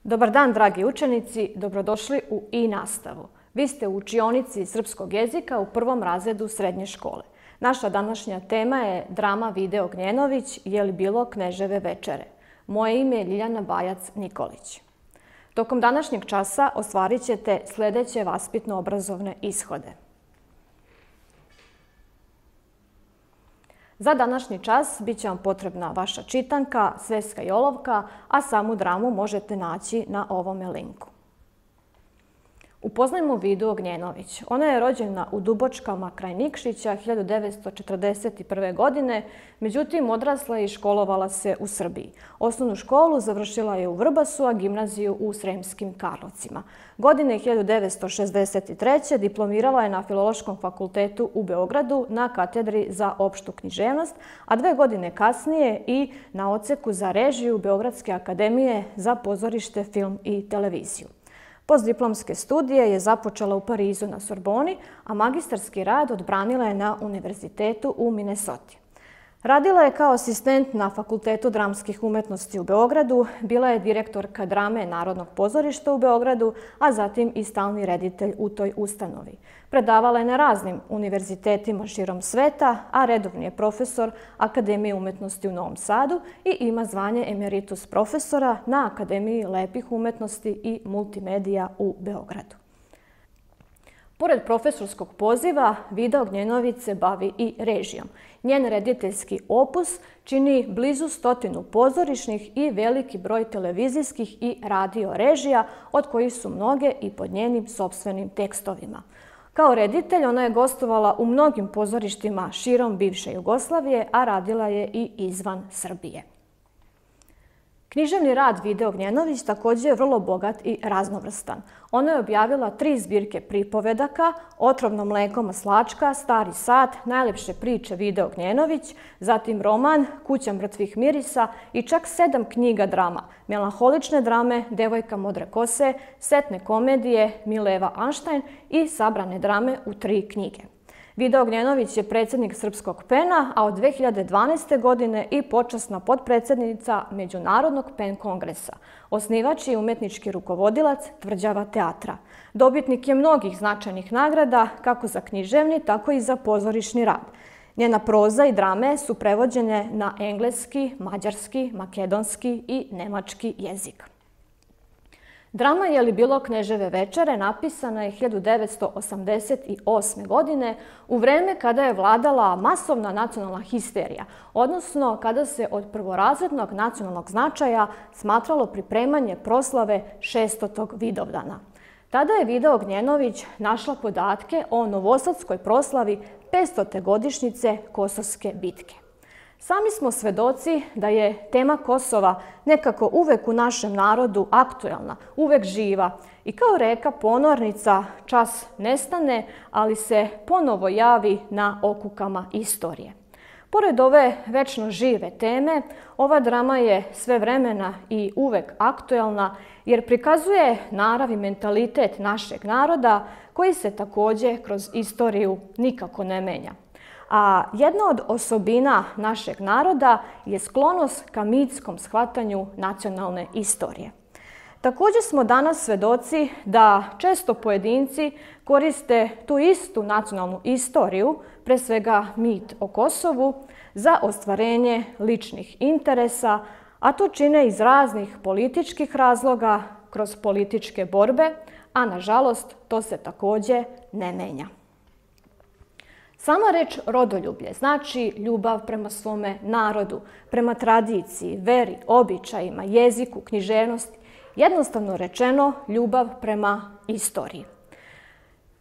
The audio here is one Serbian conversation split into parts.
Dobar dan, dragi učenici, dobrodošli u i-nastavu. Vi ste u učionici srpskog jezika u prvom razredu srednje škole. Naša današnja tema je drama Video Gnjenović, je li bilo Kneževe večere. Moje ime je Ljiljana Bajac-Nikolić. Tokom današnjeg časa ostvarit ćete sljedeće vaspitno-obrazovne ishode. Za današnji čas bit će vam potrebna vaša čitanka, sveska i olovka, a samu dramu možete naći na ovome linku. Upoznajmo Vidu Gnjenović. Ona je rođena u Dubočkama kraj Nikšića 1941. godine, međutim odrasla je i školovala se u Srbiji. Osnovnu školu završila je u Vrbasu, a gimnaziju u Sremskim Karlovcima. Godine 1963. diplomirala je na Filološkom fakultetu u Beogradu na katedri za opštu književnost, a 2 godine kasnije i na odseku za režiju Beogradske akademije za pozorište, film i televiziju. Postdiplomske studije je započela u Parizu na Sorboni, a magistarski rad odbranila je na Univerzitetu u Minnesoti. Radila je kao asistent na Fakultetu dramskih umetnosti u Beogradu, bila je direktorka drame Narodnog pozorišta u Beogradu, a zatim i stalni reditelj u toj ustanovi. Predavala je na raznim univerzitetima širom sveta, a redovni je profesor Akademije umetnosti u Novom Sadu i ima zvanje emeritus profesora na Akademiji lepih umetnosti i multimedija u Beogradu. Pored profesorskog poziva, Vida Gnjenović se bavi i režijom. Njen rediteljski opus čini blizu 100 pozorišnih i veliki broj televizijskih i radio režija, od kojih su mnoge i pod njenim sopstvenim tekstovima. Kao reditelj ona je gostovala u mnogim pozorištima širom bivše Jugoslavije, a radila je i izvan Srbije. Književni rad Vide Gnjenović također je vrlo bogat i raznovrstan. Ona je objavila 3 zbirke pripovedaka, Otrovno mleko maslačka, Stari sat, Najlepše priče Vide Gnjenović, zatim roman Kuća mrtvih mirisa i čak 7 knjiga drama, melanholične drame Devojka modre kose, setne komedije Mileva Anštajn i sabrane drame u 3 knjige. Vida Gnjenović je predsjednik Srpskog PEN-a, a od 2012. godine i počasna potpredsjednica Međunarodnog PEN kongresa, osnivač i umetnički rukovodilac Tvrđava teatra. Dobitnik je mnogih značajnih nagrada, kako za književni, tako i za pozorišni rad. Njena proza i drame su prevođene na engleski, mađarski, makedonski i nemački jezik. Drama Je li bilo Kneževe večere napisana je 1988. godine u vreme kada je vladala masovna nacionalna histerija, odnosno kada se od prvorazrednog nacionalnog značaja smatralo pripremanje proslave 600. Vidovdana. Tada je Vida Gnjenović našla podatke o novosadskoj proslavi 500. godišnjice Kosovske bitke. Sami smo svedoci da je tema Kosova nekako uvek u našem narodu aktuelna, uvek živa i kao reka ponornica čas nestane, ali se ponovo javi na okukama istorije. Pored ove večno žive teme, ova drama je svevremena i uvek aktuelna jer prikazuje narav i mentalitet našeg naroda koji se također kroz istoriju nikako ne menja. A jedna od osobina našeg naroda je sklonost ka mitskom shvatanju nacionalne istorije. Također smo danas svedoci da često pojedinci koriste tu istu nacionalnu istoriju, pre svega mit o Kosovu, za ostvarenje ličnih interesa, a to čine iz raznih političkih razloga, kroz političke borbe, a nažalost to se također ne menja. Sama reč rodoljublje znači ljubav prema svome narodu, prema tradiciji, veri, običajima, jeziku, književnosti, jednostavno rečeno ljubav prema istoriji.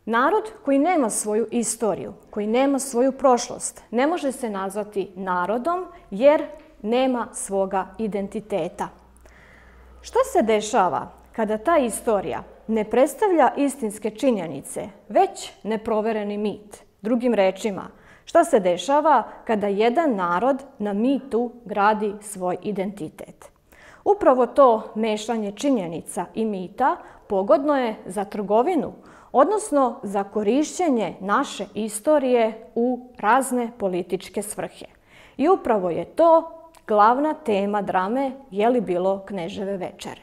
Narod koji nema svoju istoriju, koji nema svoju prošlost, ne može se nazvati narodom jer nema svoga identiteta. Što se dešava kada ta istorija ne predstavlja istinske činjenice, već neprovereni mit? Drugim rečima, što se dešava kada jedan narod na mitu gradi svoj identitet? Upravo to mešanje činjenica i mita pogodno je za trgovinu, odnosno za korišćenje naše istorije u razne političke svrhe. I upravo je to glavna tema drame Je li bilo Kneževe večere.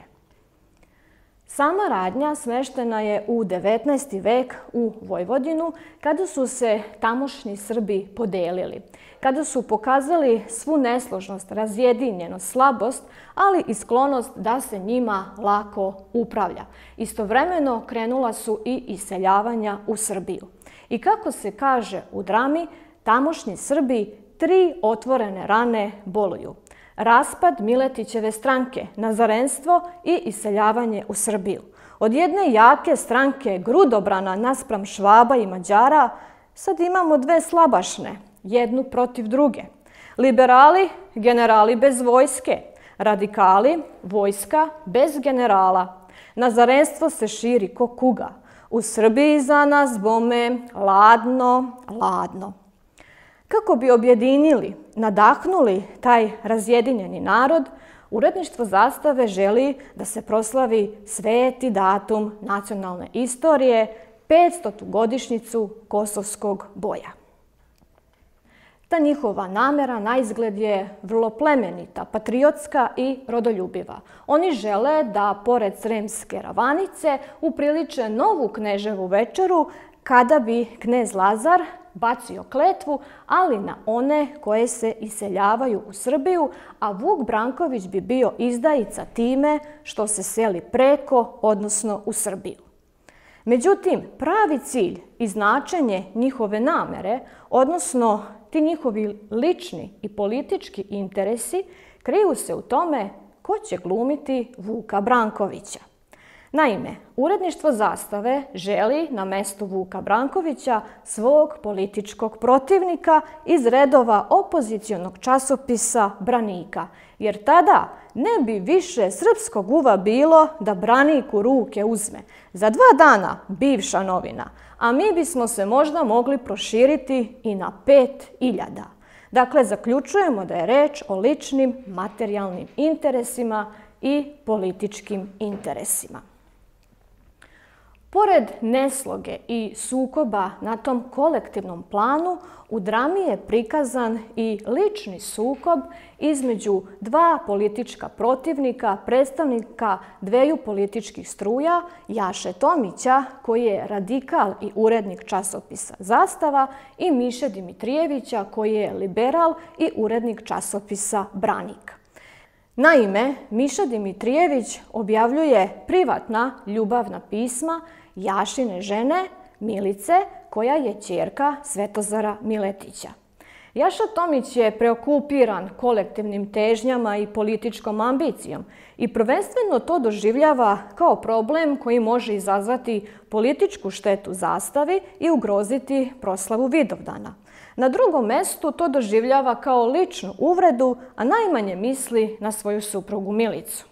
Sama radnja smeštena je u 19. vek u Vojvodinu, kada su se tamošnji Srbi podelili, kada su pokazali svu nesložnost, razjedinjenost, slabost, ali i sklonost da se njima lako upravlja. Istovremeno krenula su i iseljavanja u Srbiju. I kako se kaže u drami, tamošnji Srbi 3 otvorene rane boluju. Raspad Miletićeve stranke, nazarenstvo i iseljavanje u Srbiju. Od jedne jake stranke grudobrana naspram Švaba i Mađara sad imamo 2 slabašne, jednu protiv druge. Liberali, generali bez vojske. Radikali, vojska bez generala. Nazarenstvo se širi ko kuga. U Srbiji za nas bome ladno, ladno. Kako bi objedinili, nadahnuli taj razjedinjeni narod, uredništvo Zastave želi da se proslavi sveti datum nacionalne istorije, 500. godišnjicu Kosovskog boja. Ta njihova namera naizgled je vrlo plemenita, patriotska i rodoljubiva. Oni žele da, pored Sremske ravanice, upriliče novu kneževu večeru kada bi knez Lazar bacio kletvu, ali na one koje se iseljavaju u Srbiju, a Vuk Branković bi bio izdajica time što se seli preko, odnosno u Srbiju. Međutim, pravi cilj i značenje njihove namere, odnosno ti njihovi lični i politički interesi, kriju se u tome ko će glumiti Vuka Brankovića. Naime, uredništvo Zastave želi na mestu Vuka Brankovića svog političkog protivnika iz redova opozicionog časopisa Branika, jer tada ne bi više srpskog uva bilo da Branik u ruke uzme. Za 2 dana bivša novina, a mi bismo se možda mogli proširiti i na 5.000. Dakle, zaključujemo da je reč o ličnim materijalnim interesima i političkim interesima. Pored nesloge i sukoba na tom kolektivnom planu, u drami je prikazan i lični sukob između 2 politička protivnika, predstavnika 2 političkih struja, Jaše Tomića, koji je radikal i urednik časopisa Zastava, i Miše Dimitrijevića, koji je liberal i urednik časopisa Branik. Naime, Miša Dimitrijević objavljuje privatna ljubavna pisma Jašine žene, Milice, koja je ćerka Svetozara Miletića. Jaša Tomić je preokupiran kolektivnim težnjama i političkom ambicijom i prvenstveno to doživljava kao problem koji može izazvati političku štetu Zastavi i ugroziti proslavu Vidovdana. Na drugom mestu to doživljava kao ličnu uvredu, a najmanje misli na svoju suprugu Milicu.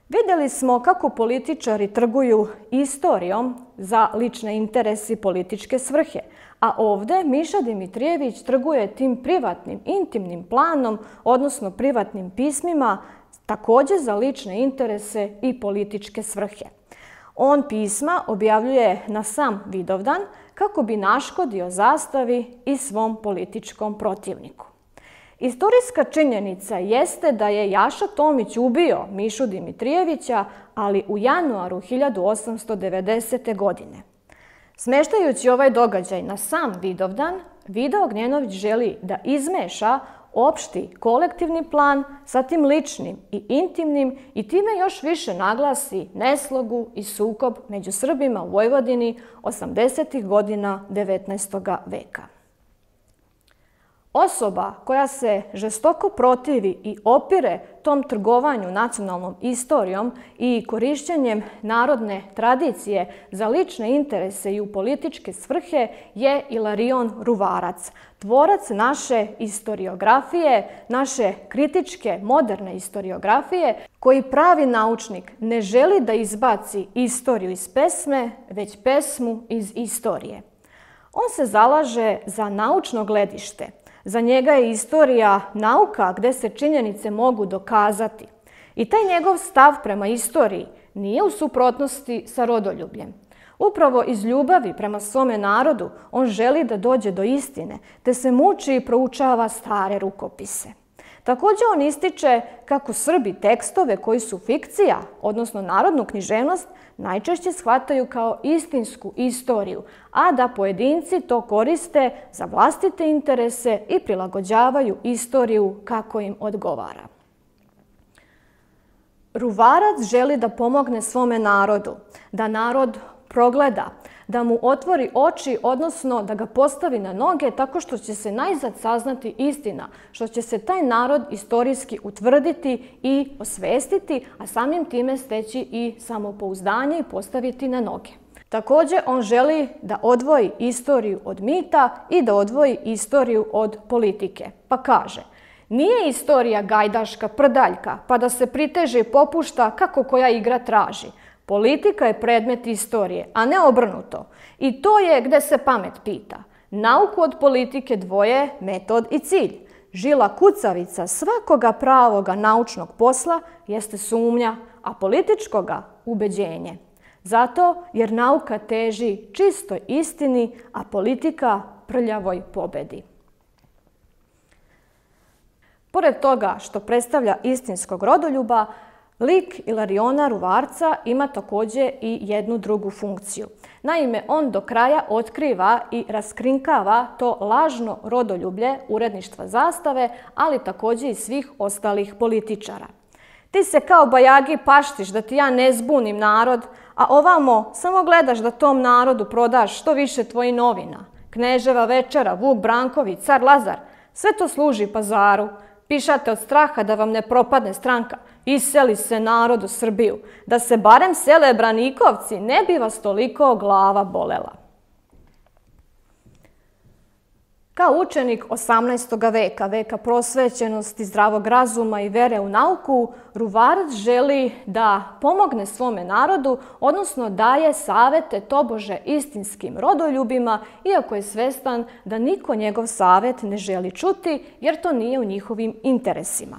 Vidjeli smo kako političari trguju istorijom za lične interese i političke svrhe, a ovdje Miša Dimitrijević trguje tim privatnim, intimnim planom, odnosno privatnim pismima, također za lične interese i političke svrhe. On pisma objavljuje na sam Vidovdan kako bi naškodio Zastavi i svom političkom protivniku. Istorijska činjenica jeste da je Jaša Tomić ubio Mišu Dimitrijevića, ali u januaru 1890. godine. Smeštajući ovaj događaj na sam Vidovdan, Vido Ognjenović želi da izmeša opšti kolektivni plan sa tim ličnim i intimnim i time još više naglasi neslogu i sukob među Srbima u Vojvodini 80. godina 19. veka. Osoba koja se žestoko protivi i opire tom trgovanju nacionalnom istorijom i korišćenjem narodne tradicije za lične interese i u političke svrhe je Ilarion Ruvarac, tvorac naše istoriografije, naše kritičke moderne istoriografije, koji pravi naučnik ne želi da izbaci istoriju iz pesme, već pesmu iz istorije. On se zalaže za naučno gledište. Za njega je istorija nauka gde se činjenice mogu dokazati. I taj njegov stav prema istoriji nije u suprotnosti sa rodoljubljem. Upravo iz ljubavi prema svome narodu on želi da dođe do istine, te se muči i proučava stare rukopise. Također on ističe kako Srbi tekstove koji su fikcija, odnosno narodnu književnost, najčešće shvataju kao istinsku istoriju, a da pojedinci to koriste za vlastite interese i prilagođavaju istoriju kako im odgovara. Ruvarac želi da pomogne svome narodu, da narod progleda, da mu otvori oči, odnosno da ga postavi na noge tako što će se najzad saznati istina, što će se taj narod istorijski utvrditi i osvestiti, a samim time steći i samopouzdanje i postaviti na noge. Također on želi da odvoji istoriju od mita i da odvoji istoriju od politike. Pa kaže: nije istorija gajdaška prdaljka, pa da se priteže i popušta kako koja igra traži. Politika je predmet istorije, a ne obrnuto. I to je gde se pamet pita. Nauku od politike dvoje metod i cilj. Žila kucavica svakoga pravoga naučnog posla jeste sumnja, a političkoga ubeđenje. Zato jer nauka teži čistoj istini, a politika prljavoj pobedi. Pored toga što predstavlja istinskog rodoljuba, lik Ilariona Ruvarca ima također i jednu drugu funkciju. Naime, on do kraja otkriva i raskrinkava to lažno rodoljublje uredništva Zastave, ali također i svih ostalih političara. Ti se kao bajagi paštiš da ti ja ne zbunim narod, a ovamo samo gledaš da tom narodu prodaš što više tvojih novina. Kneževa večera, Vuk Branković, car Lazar, sve to služi pazaru. Pišate od straha da vam ne propadne stranka. Iseli se narod u Srbiju. Da se barem sele Branikovci, ne bi vas toliko glava bolela. Kao učenik 18. veka, veka prosvećenosti, zdravog razuma i vere u nauku, Ruvarac želi da pomogne svome narodu, odnosno daje savete tobože istinskim rodoljubima, iako je svestan da niko njegov savet ne želi čuti, jer to nije u njihovim interesima.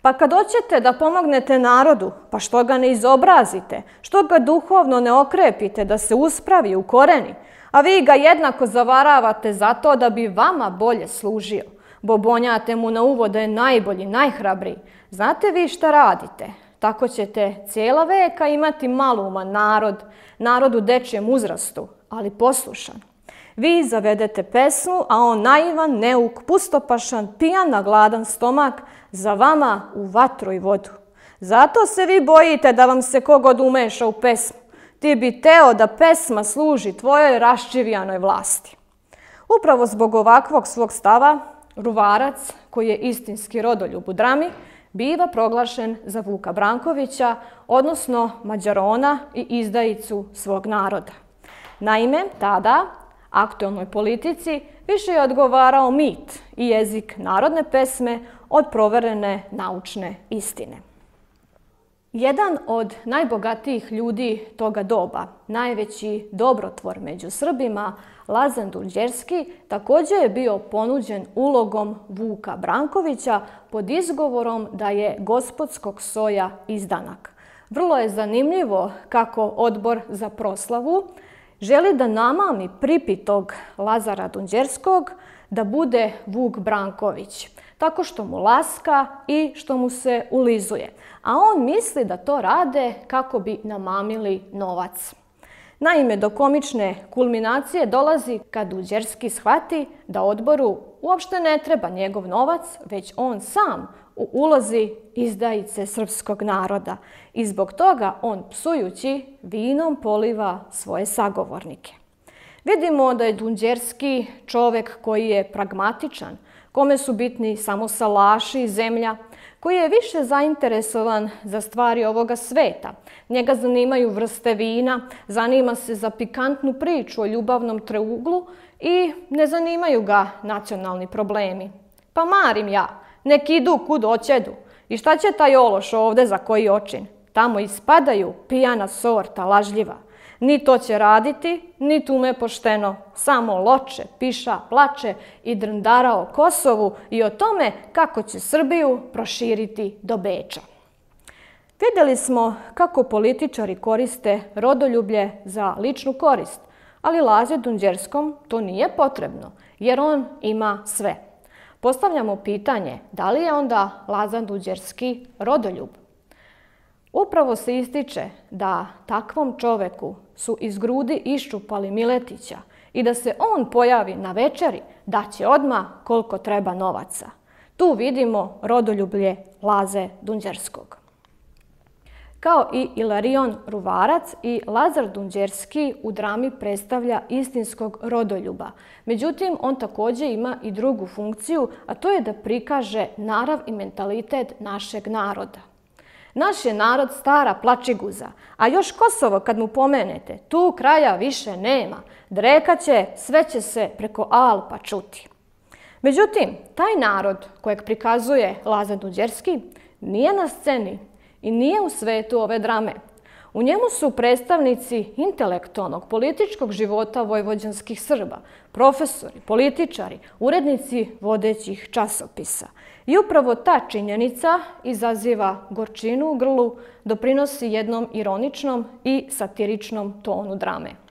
Pa kad hoćete da pomognete narodu, pa što ga ne izobrazite, što ga duhovno ne okrepite da se uspravi u koreni, a vi ga jednako zavaravate zato da bi vama bolje služio. Bobonjate mu na uvo da je najbolji, najhrabriji. Znate vi šta radite? Tako ćete cijela veka imati maluman narod u dečijem uzrastu, ali poslušan. Vi zavedete pesmu, a on naivan, neuk, pustopašan, pijan na gladan stomak, za vama u vatru i vodu. Zato se vi bojite da vam se kogod umeša u pesmu. Ti bi teo da pesma služi tvojoj raščivijanoj vlasti. Upravo zbog ovakvog svog stava, Ruvarac, koji je istinski rodoljub u drami, biva proglašen za Vuka Brankovića, odnosno Mađarona i izdajicu svog naroda. Naime, tada aktuelnoj politici više je odgovarao mit i jezik narodne pesme od proverene naučne istine. Jedan od najbogatijih ljudi toga doba, najveći dobrotvor među Srbima, Lazan Dunđerski, također je bio ponuđen ulogom Vuka Brankovića pod izgovorom da je gospodskog soja izdanak. Vrlo je zanimljivo kako Odbor za proslavu želi da namami pripitog Lazara Dunđerskog da bude Vuk Branković, tako što mu laska i što mu se ulizuje. A on misli da to rade kako bi namamili novac. Naime, do komične kulminacije dolazi kad Dunđerski shvati da odboru uopšte ne treba njegov novac, već on sam u ulozi izdajice srpskog naroda. I zbog toga on, psujući, vinom poliva svoje sagovornike. Vidimo da je Dunđerski čovek koji je pragmatičan, kome su bitni samo salaši i zemlja, koji je više zainteresovan za stvari ovoga sveta. Njega zanimaju vrste vina, zanima se za pikantnu priču o ljubavnom treuglu i ne zanimaju ga nacionalni problemi. Pa marim ja, nek idu kud oćedu. I šta će taj ološ ovde za koji očin? Tamo ispadaju pijana sorta, lažljiva. Ni to će raditi, ni tume pošteno, samo loče, piša, plače i drndara o Kosovu i o tome kako će Srbiju proširiti do Beča. Vidjeli smo kako političari koriste rodoljublje za ličnu korist, ali Lazi Dunđerskom to nije potrebno, jer on ima sve. Postavljamo pitanje da li je onda Lazar Đurđevski rodoljub? Upravo se ističe da takvom čoveku su iz grudi iščupali Miletića i da se on pojavi na večeri daće odmah koliko treba novaca. Tu vidimo rodoljublje Laze Đurđevskog. Kao i Ilarion Ruvarac, i Lazar Đurđevski u drami predstavlja istinskog rodoljuba. Međutim, on također ima i drugu funkciju, a to je da prikaže narav i mentalitet našeg naroda. Naš je narod stara plačiguza, a još Kosovo kad mu pomenete, tu kraja više nema. Drekaće, sve će se preko Alpa čuti. Međutim, taj narod kojeg prikazuje Lazar Đurđevski nije na sceni i nije u svetu ove drame. U njemu su predstavnici intelektualnog političkog života vojvođanskih Srba, profesori, političari, urednici vodećih časopisa. I upravo ta činjenica izaziva gorčinu u grlu, doprinosi jednom ironičnom i satiričnom tonu drame.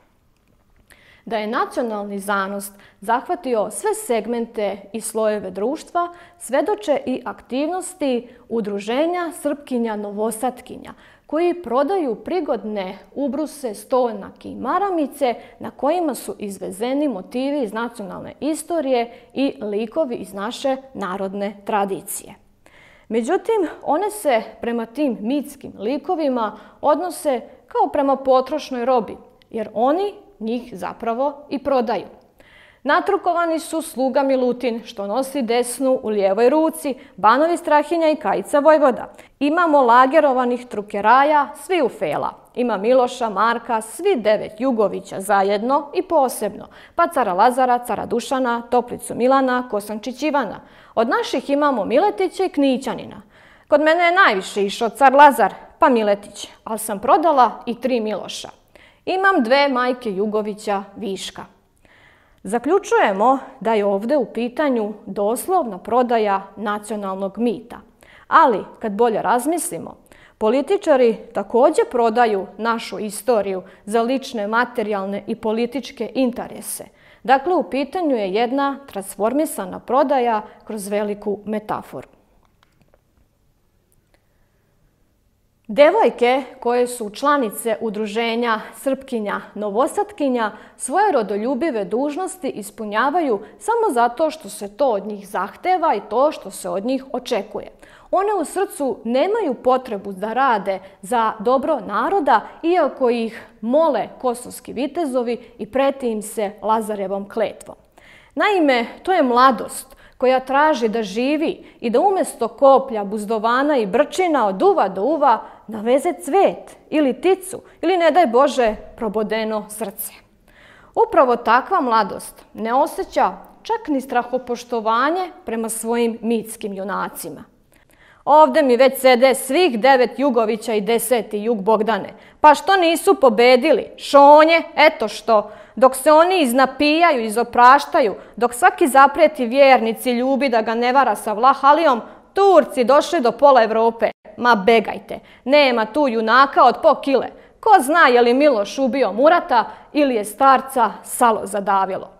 Da je nacionalni zanos zahvatio sve segmente i slojeve društva, svedoče i aktivnosti udruženja Srpkinja Novosatkinja, koji prodaju prigodne ubruse, stolnjake i maramice na kojima su izvezeni motivi iz nacionalne istorije i likovi iz naše narodne tradicije. Međutim, one se prema tim mitskim likovima odnose kao prema potrošnoj robi, jer oni njih zapravo i prodaju. Natrukovani su sluga Milutin, što nosi desnu u lijevoj ruci, Banovi Strahinja i Kajica Vojvoda. Imamo lagerovanih trukeraja, svi u fela. Ima Miloša, Marka, svi 9 Jugovića zajedno i posebno, pa cara Lazara, cara Dušana, Toplicu Milana, Kosančić Ivana. Od naših imamo Miletića i Knićanina. Kod mene je najviše išao car Lazar, pa Miletić, ali sam prodala i 3 Miloša. Imam 2 majke Jugovića viška. Zaključujemo da je ovdje u pitanju doslovna prodaja nacionalnog mita. Ali, kad bolje razmislimo, političari također prodaju našu istoriju za lične, materijalne i političke interese. Dakle, u pitanju je jedna transformisana prodaja kroz veliku metaforu. Devojke koje su članice udruženja Srpkinja Novosatkinja svoje rodoljubive dužnosti ispunjavaju samo zato što se to od njih zahteva i to što se od njih očekuje. One u srcu nemaju potrebu da rade za dobro naroda, iako ih mole kosovski vitezovi i preti im se Lazarevom kletvom. Naime, to je mladost koja traži da živi i da umjesto koplja, buzdovana i brčina od uva do uva naveze cvet ili ticu ili, ne daj Bože, probodeno srce. Upravo takva mladost ne osjeća čak ni strahopoštovanje prema svojim mitskim junacima. Ovdje mi već sede svih 9 Jugovića i 10. Jug Bogdane. Pa što nisu pobedili? Šonje, eto što. Dok se oni iznapijaju, izopraštaju, dok svaki zaprijeti vjernici ljubi da ga ne vara sa Vlahalijom, Turci došli do pola Evrope. Ma begajte, nema tu junaka od po kile. Ko zna je li Miloš ubio Murata ili je starca salo zadavilo.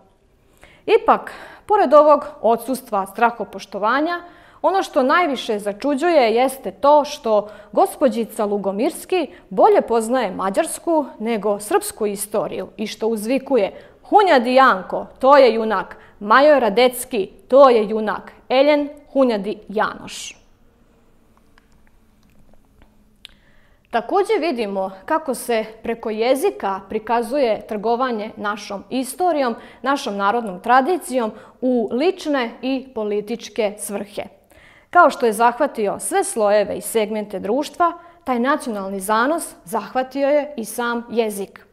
Ipak, pored ovog odsustva strahopoštovanja, ono što najviše začuđuje jeste to što gospođica Lugomirski bolje poznaje mađarsku nego srpsku istoriju i što uzvikuje Hunjadi Janko, to je junak, Major Radecki, to je junak, Eljen Hunjadi Janoš. Također vidimo kako se preko jezika prikazuje trgovanje našom istorijom, našom narodnom tradicijom u lične i političke svrhe. Kao što je zahvatio sve slojeve i segmente društva, taj nacionalni zanos zahvatio je i sam jezik.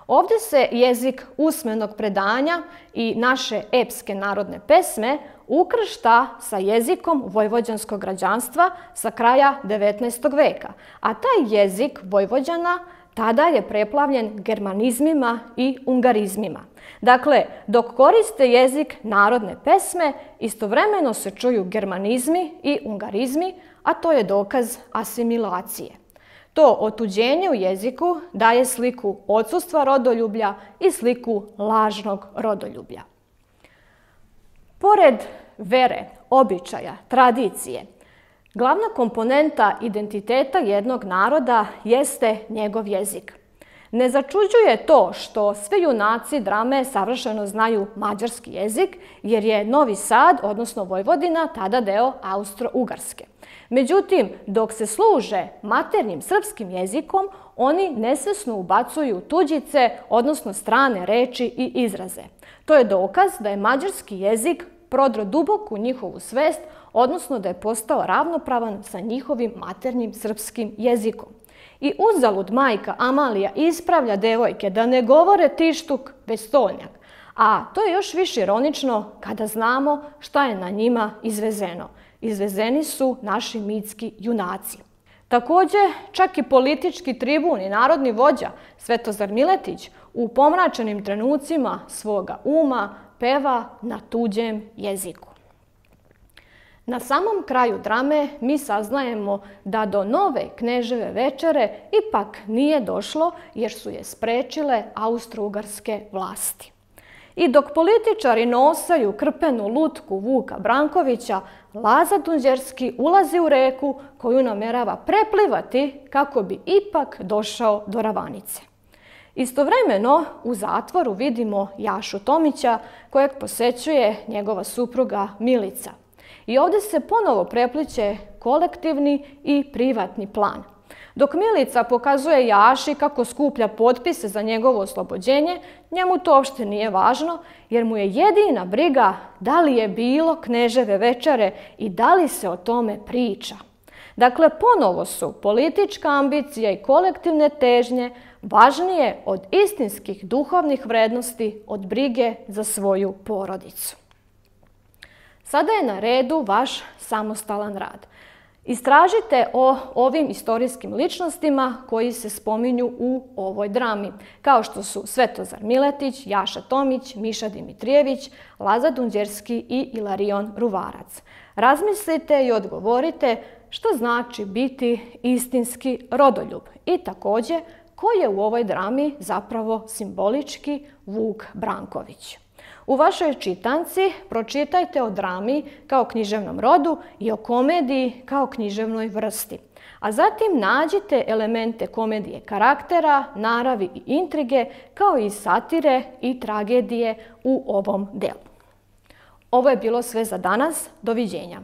Ovdje se jezik usmenog predanja i naše epske narodne pesme ukršta sa jezikom vojvođanskog građanstva sa kraja 19. veka, a taj jezik Vojvođana tada je preplavljen germanizmima i ungarizmima. Dakle, dok koriste jezik narodne pesme, istovremeno se čuju germanizmi i ungarizmi, a to je dokaz asimilacije. To otuđenje u jeziku daje sliku odsustva rodoljublja i sliku lažnog rodoljublja. Pored vere, običaja, tradicije. Glavna komponenta identiteta jednog naroda jeste njegov jezik. Ne začuđuje to što svi junaci drame savršeno znaju mađarski jezik, jer je Novi Sad, odnosno Vojvodina, tada deo Austro-Ugarske. Međutim, dok se služe maternjim srpskim jezikom, oni nesvesno ubacuju tuđice, odnosno strane reči i izraze. To je dokaz da je mađarski jezik prodro duboko u njihovu svest, odnosno da je postao ravnopravan sa njihovim maternjim srpskim jezikom. I uzalud majka Amalija ispravlja devojke da ne govore tištuk, već stolnjak. A to je još više ironično kada znamo šta je na njima izvezeno. Izvezeni su naši mitski junaci. Također, čak i politički tribun i narodni vođa Svetozar Miletić u pomračenim trenucima svoga uma peva na tuđem jeziku. Na samom kraju drame mi saznajemo da do nove Kneževe večere ipak nije došlo jer su je sprečile austro-ugarske vlasti. I dok političari nosaju krpenu lutku Vuka Brankovića, Laza Dunđerski ulazi u reku koju namerava preplivati kako bi ipak došao do Ravanice. Istovremeno u zatvoru vidimo Jašu Tomića kojeg posećuje njegova supruga Milica. I ovdje se ponovo prepliće kolektivni i privatni plan. Dok Milica pokazuje Jaši kako skuplja potpise za njegovo oslobođenje, njemu to uopšte nije važno, jer mu je jedina briga da li je bilo Kneževe večere i da li se o tome priča. Dakle, ponovo su politička ambicija i kolektivne težnje važnije od istinskih duhovnih vrednosti, od brige za svoju porodicu. Sada je na redu vaš samostalan rad. Istražite o ovim istorijskim ličnostima koji se spominju u ovoj drami, kao što su Svetozar Miletić, Jaša Tomić, Miša Dimitrijević, Laza Dunđerski i Ilarion Ruvarac. Razmislite i odgovorite što znači biti istinski rodoljub i također ko je u ovoj drami zapravo simbolički Vuk Branković. U vašoj čitanci pročitajte o drami kao književnom rodu i o komediji kao književnoj vrsti. A zatim nađite elemente komedije karaktera, naravi i intrige, kao i satire i tragedije u ovom delu. Ovo je bilo sve za danas. Doviđenja.